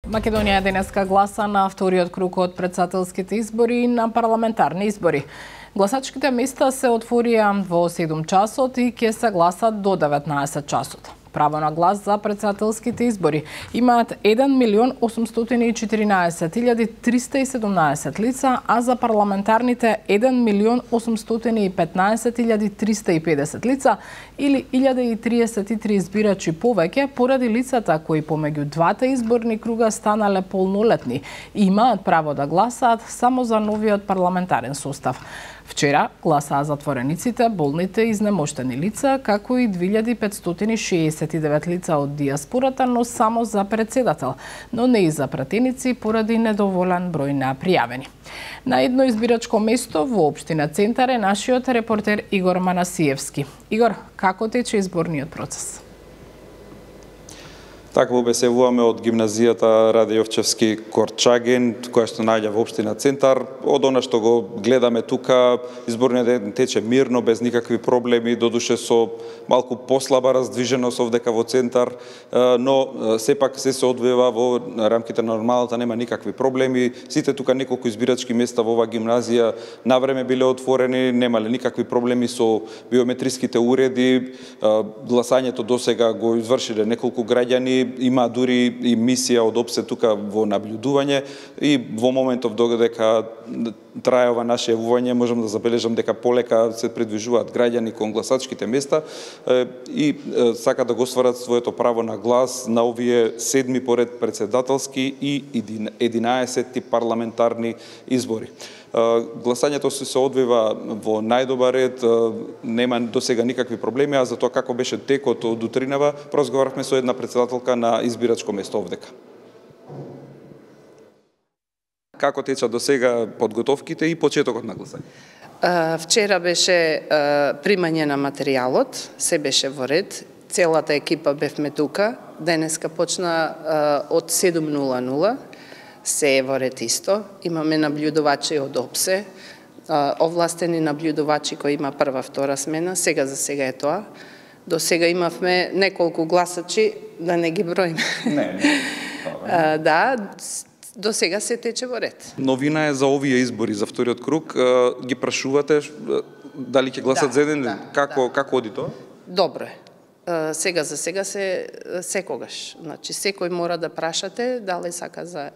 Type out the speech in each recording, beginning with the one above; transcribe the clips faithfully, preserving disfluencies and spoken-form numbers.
Македонија денеска гласа на вториот круг од претседателските избори и на парламентарни избори. Гласачките места се отворија во седум часот и ќе се гласат до деветнаесет часот. Право на глас за претседателските избори имаат еден милион осумстотини и четиринаесет илјади триста и седумнаесет лица, а за парламентарните еден милион осумстотини и петнаесет илјади триста и педесет лица или илјада и триесет и три избирачи повеќе поради лицата кои помеѓу двата изборни круга станале полнолетни и имаат право да гласаат само за новиот парламентарен состав. Вчера гласаа затворениците, болните и изнемоштени лица, како и две илјади петстотини шеесет и девет лица од диаспората, но само за председател, но не и за пратеници поради недоволен број на пријавени. На едно избирачко место во општина Центар е нашиот репортер Игор Манасиевски. Игор, како тече изборниот процес? Така во бесевуваме од гимназијата Раде Јовчевски Корчаген, која што наоѓа во општина Центар. Од она што го гледаме тука, изборниот ден тече мирно, без никакви проблеми, додуше со малку послаба раздвиженост овдека во Центар, но сепак се се одвива во рамките на нормалната, нема никакви проблеми. Сите тука неколку избирачки места во оваа гимназија навреме биле отворени, немале никакви проблеми со биометриските уреди. Гласањето досега го извршиле неколку граѓани, има дури и мисија од ОПСЕ тука во наблюдување и во моментов додека трае ова наше јавување можам да забележам дека полека се придвижуваат граѓани кон гласачките места и сакаат да го стварат своето право на глас на овие седми поред претседателски и единаесетти парламентарни избори. Гласањето се одвива во најдобар ред, нема досега никакви проблеми, а за тоа како беше текот од утринава, разговаравме со една претседателка на избирачко место овдека. Како теча досега подготовките и почетокот на гласање? Вчера беше примање на материјалот, се беше во ред, целата екипа бевме тука, денеска почна од седум нула нула, се е во ред исто. Имаме наблюдувачи од ОПСЕ, овластени наблюдувачи кои има прва, втора смена, сега за сега е тоа. До сега имавме неколку гласачи, да не ги броиме. Не, не. Да, до сега се тече во ред. Новина е за овие избори, за вториот круг. Ги прашувате дали ќе гласат да, за еден да, ден? Како, да. како оди тоа? Добро е. Сега за сега се секогаш. Значи, секој мора да прашате дали сака за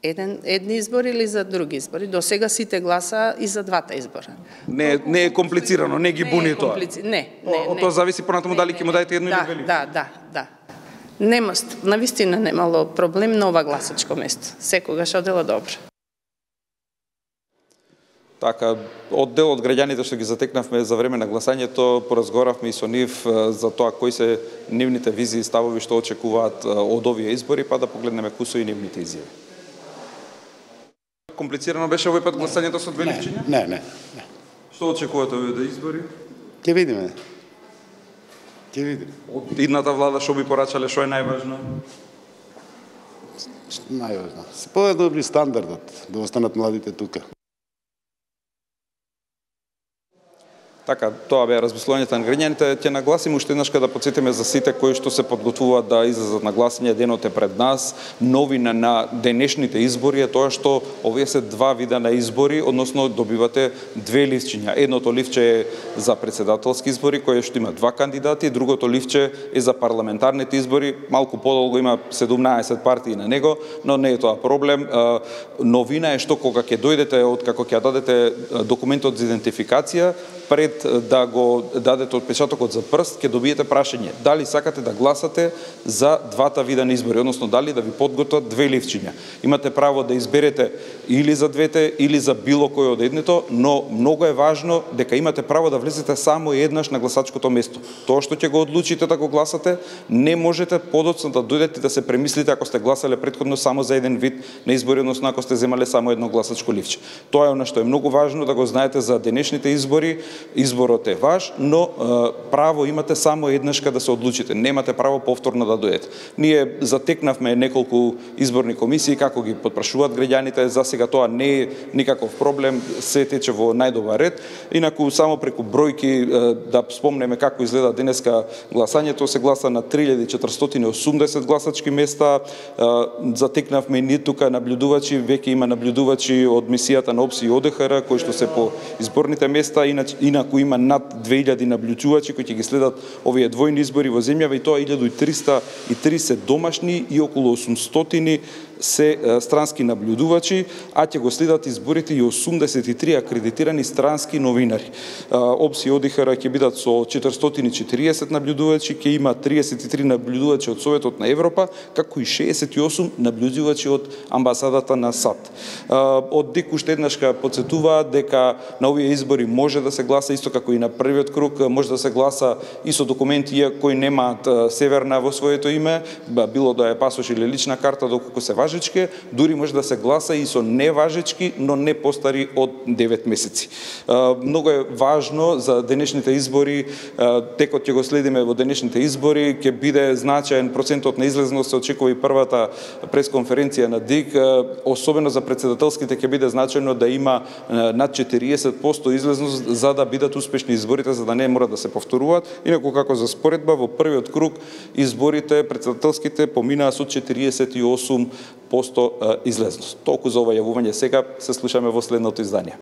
еден едни избори или за други избори. До сега сите гласа и за двата избора. Не, не е комплицирано, не ги буни тоа. Не, не, не. Од тоа зависи понатаму дали ќе му дајте едно да, или две. Да, да, да. Нема, навистина немало проблем на ова гласачко место. Секогаш одела добро. Така, од дел од граѓаните што ги затекнавме за време на гласањето, поразговаравме и со нив за тоа кои се нивните визии и ставови што очекуваат од овие избори, па да погледнеме кои се и нивните изјави. Комплицирано беше овој пат гласањето со две ливчиња? Не, не, не. Што очекувате овие избори? Ќе видиме. Ќе видиме. Од идната влада што би порачале, што е најважно? Најважно. Се подобри стандардот, да останат младите тука. Така, тоа беа размислувањата на граѓаните. Ќе нагласим уште еднаш да потсетиме за сите кои што се подготвуваат да излезат на гласање, денот е пред нас. Новина на денешните избори е тоа што овие се два вида на избори, односно добивате две ливчиња. Едното ливче е за претседателски избори, кој што има два кандидати, другото ливче е за парламентарните избори. Малку подолго има седумнаесет партии на него, но не е тоа проблем. Новина е што кога ќе дојдете од како ќе дадете документот за идентификација, пред да го дадете отпечатокот за прст, ќе добиете прашање дали сакате да гласате за двата вида на избори, односно дали да ви подготват две ливчиња. Имате право да изберете или за двете, или за било кој од едното, но многу е важно дека имате право да влезете само еднаш на гласачкото место. Тоа што ќе го одлучите да го гласате, не можете подоцна да дојдете да се премислите ако сте гласале претходно само за еден вид на избори, односно ако сте земале само едно гласачко ливче. Тоа е она што е многу важно да го знаете за денешните избори. изборот е ваш, но право имате само еднашка да се одлучите. Немате право повторно да дојдете. Ние затекнавме неколку изборни комисии како ги потпрашуваат граѓаните, за сега тоа не е никаков проблем, се тече во најдобар ред. Инаку само преку бројки да спомнеме како изгледа денеска гласањето, се гласа на три илјади четиристотини и осумдесет гласачки места. Затекнавме и ние тука наблюдувачи, веќе има наблюдувачи од мисијата на ОПС и ОДХР кои што се по изборните места, инаку има над две илјади наблюдувачи кои ќе ги следат овие двојни избори во земјава, и тоа илјада триста и тридесет домашни и околу осумстотини се странски наблюдувачи, а ќе го следат изборите и осумдесет и три акредитирани странски новинари. ОПС и ОДХР ќе бидат со четиристотини и четириесет наблюдувачи, ќе има триесет и три наблюдувачи од Советот на Европа, како и шеесет и осум наблюдувачи од амбасадата на САД. Од ДИК уште еднашка подсетуваат дека на овие избори може да се гласа исто како и на првиот круг, може да се гласа и со документи кои немаат северна во своето име, било да е пасош или лична карта, доколку се важечки, дури може да се гласа и со неважечки, но не постари од девет месеци. Многу е важно за денешните избори, текот ќе го следиме во денешните избори, ќе биде значаен процентот на излезност, се очекува и првата пресконференција на ДИК, особено за председателските ќе биде значајно да има над четириесет проценти излезност за да бидат успешни изборите, за да не мора да се повторуваат. Инаку како за споредба, во првиот круг изборите председателските поминаа со четириесет и осум проценти излезност. Толку за ова јавување сега, се слушаме во следното издание.